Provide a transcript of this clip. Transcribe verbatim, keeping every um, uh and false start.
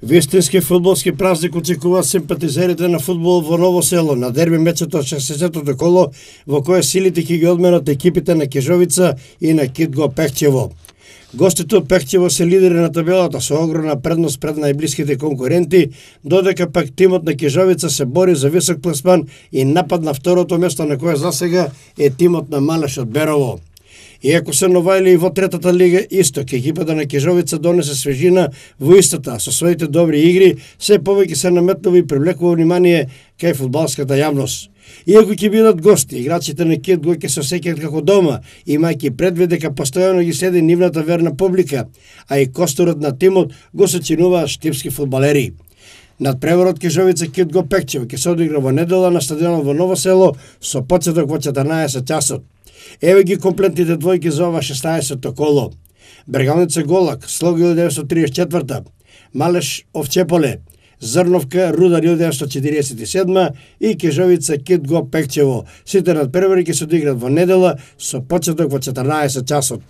Вистински фудбалски празник очекуваат симпатизерите на фудбал во Ново село на дерби мечето од шесдесетото коло во кое силите ќе ги одменат екипите на Кежовица и на Китго Пехчево. Гостите од Пехчево се лидери на табелата со огромна предност пред најблиските конкуренти, додека пак тимот на Кежовица се бори за висок пласман и напад на второто место на кое засега е тимот на Малеш од Берово. Иако се новајли и во третата лига Исток, екипата на Кежовица донесе свежина во истата со своите добри игри, се повеќе се наметнува и привлекува внимание кај фудбалската јавност. Иако ќе бидат гости, играчите на Китго ќе се осеќаат како дома, имајќи предвид дека постојано ги следи нивната верна публика, а и косторот на тимот го сочинуваат штипски фудбалери. Надпреварот Кежовица Китго Пехчево ќе се одигра во недела на стадионот во Ново село со почеток во четрнаесет часот. Еве ги комплетните двојки за ова шеснаесетто коло. Бергалница Голак, Слог илјада деветстотини триесет и четврта, Малеш Овчеполе, Зрновка Рудар илјада деветстотини четиридесет и седма и Кежовица Китго Пехчево. Сите надпревари ќе се одиграат во недела со почеток во четрнаесет часот.